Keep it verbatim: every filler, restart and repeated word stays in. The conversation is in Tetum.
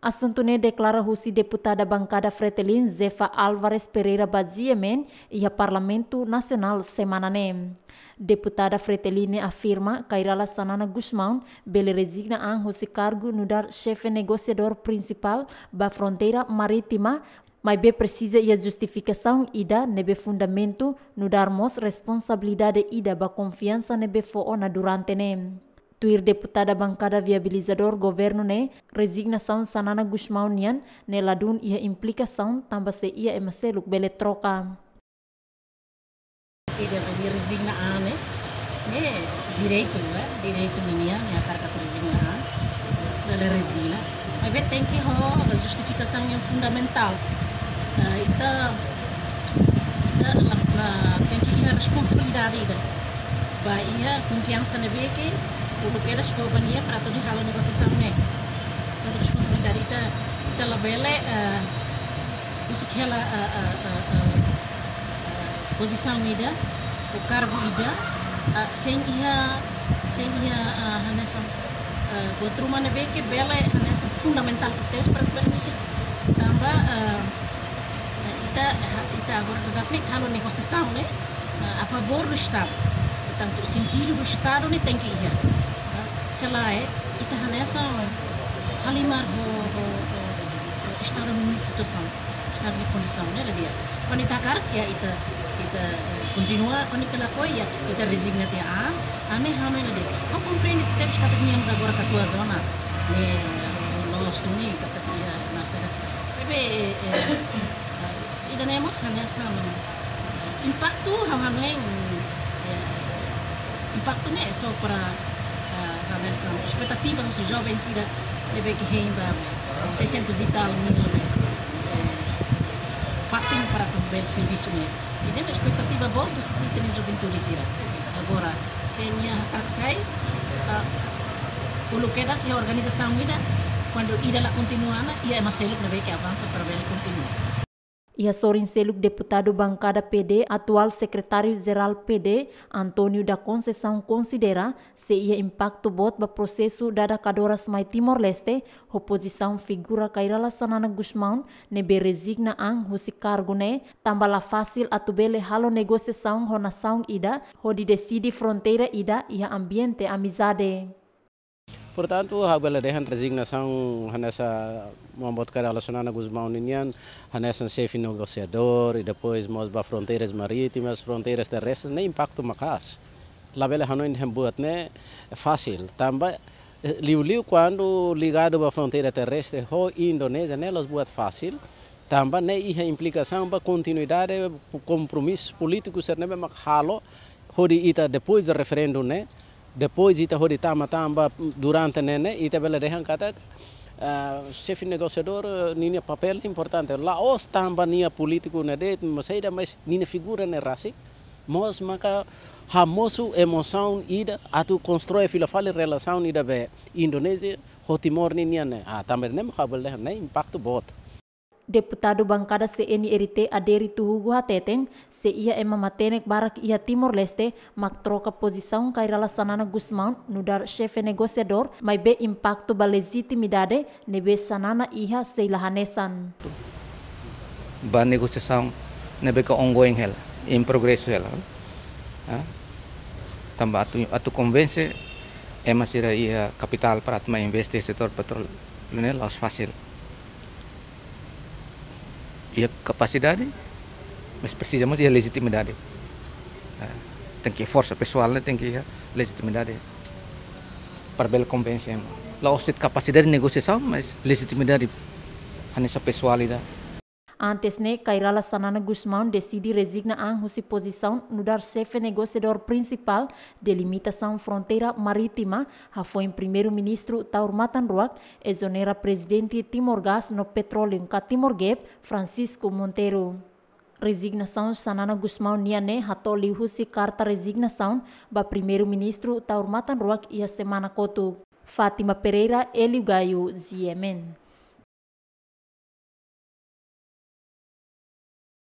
Asuntu ne'e deklara husi deputada bankada Fretilin, Zefa Álvares Pereira ba G M N, iha Parlamentu Nasionál semana ne'e. Deputada Fretilin ne'e afirma, Kay Rala Xanana Gusmão bele rezigna an husi kargu nu'udar xefe negosiadór prinsipál ba fronteira marítima, maibé presiza iha justifikasaun ida ne'ebé fundamentu, nu'udar mós responsabilidade ida ba konfiansa ne'ebé fó ona durante ne'e. Tuir deputada bankada viabilizadór governu ne'e, rezignasaun Xanana Gusmão nian ne'e ladún iha implikasaun tanba sei iha ema seluk bele troka. Ida bele rezigna an ne'e, ne'e direitu, eh, direitu ninian, ne'e hakarak atu rezigna an, bele rezigna. Maibé tenke ho justifikasaun yang fundamentál. Eh, ita, ita la, la, tenke iha responsabilidade ida. Ba iha konfiansa ne'ebé ke uluk kedas fó ba nia para atu hodi halo negosiasaun ne'e. Ita responsabilidade ita, ita labele, eh, husik hela, eh, eh, eh, eh, eh, pozisaun ida, ou kargu ida, eh, sein iha, sein iha, eh, hanesan, eh, buat ruma ne'ebé ke bele hanesan fundamentál tebes para bele husik. Tanba, eh, eh, ita, ita agora daudaun ne'e halo negosiasaun ne'e, eh, a favór do Estadu. Portantu, sentidu do Estadu ne'e tenke iha. Eh, se lae, ita hanesan halimar ho, ho, ho, ho Estadu nia situasaun, Estadu nia kondisaun, ne'e la di'ak. Kuandu ita hakarak, ya, ita, ita, eh, kontinua, kuandu ita lakohi, ya, ita rezigna tiha an, an ne'e hanoin la di'ak. Ha'u komprende tebes katak nia mós agora katuas ona, ne'e, eh, loos duni, katak iha, marsera. Maibé, eh, eh, ida-ne'e mós hanesan, eh, impaktu, ha'u hanoin, eh, impaktu ne'e só para, eh, hanesan espetativa husi joven sira ne'ebé ke hein ba seiscentos e tal mil, eh, fatin para atu bele servisu ne'e. Ida-ne'e espetativa boot husi ita-nia juventude sira. Agora, se nia hakarak sai, ah, uluk kedas iha organizasaun ida, kuandu ida la kontinua ona, iha ema seluk ne'ebé ke avansa para bele kontinua. Iha sorin seluk, deputadu bankada P D, atuál sekretáriu-jerál P D, António da Conceição, konsidera sei iha impaktu boot ba prosesu dada kadoras mai Timor-Leste, ho pozisaun figura Kay Rala Xanana Gusmão ne'ebé rezigna an husi kargu ne'e, tanba la fasil atu bele halo negosiasaun ho nasaun ida, hodi deside fronteira ida iha ambiente amizade. Portantu, ha'u bele dehan rezignasaun hanesan maun boot Kay Rala Xanana Gusmão ninian, hanesan xefe negosiadór, i depois mós ba fronteiras marítimas, fronteiras terrestres, ne'e impaktu maka'as. Labele hanoin dehan buat ne'e fasil. Tanba, eh, liuliu kuandu ligadu ba fronteira terrestre ho Indonézia, ne'e la'ós buat fasil. Tanba ne'e iha implikasaun ba kontinuidade kompromisu polítiku sira ne'ebé mak halo hodi ita depois de referendu ne'e, depois ita hodi tama tanba durante ne'e ne'e, ita bele dehan katak, ah, xefe negosiadór, eh, ninia papél importante. La'ós tanba nia polítiku ne'e de'it, mas saida, mas ninia figura ne'e rasik mós maka hamosu emosaun ida atu konstrui fila fali relasaun ida be Indonézia ho Timor ninian ne'e. Ah, tanba ne'e mak ha'u bele dehan ne'e impaktu boot. Deputadu bankada C N R T Adérito Hugo hateten, sei iha ema matenek barak iha Timor-Leste mak troka pozisaun Kay Rala Xanana Gusmão nu'udar xefe negosiadór, maibé impaktu ba lejitimidade ne'ebé Xanana iha sei la hanesan. Ba negosiasaun ne'ebé ke ongoing hela, in progresu hela. Ah? Tanba atu, atu konvense ema sira iha kapitál para atu mai investe setór petróleu ne'e la'ós fasil. Iha kapasidade, mas presiza mós iha lejitimidade. Ah, tenke forsa pesoál ne'e, tenke iha lejitimidade para bele konvense ema. La'ós de'it kapasidade negosiasaun, mas lejitimidade hanesan pesoál ida. Antes ne'e, Kay Rala Xanana Gusmão deside rezigna an husi pozisaun nu'udar xefe negosiadór prinsipál delimitasaun fronteira marítima, hafoin Primeiru-Ministru Taur Matan Ruak ezonera Prezidente Timor Gas no Petroleum ka Timor GEP, Francisco Monteiro. Rezignasaun Xanana Gusmão nian ne'e hato'o liuhusi karta rezignasaun ba Primeiru-Ministru Taur Matan Ruak iha semana kotuk. Fátima Pereira, Hélio Gaio, G M N.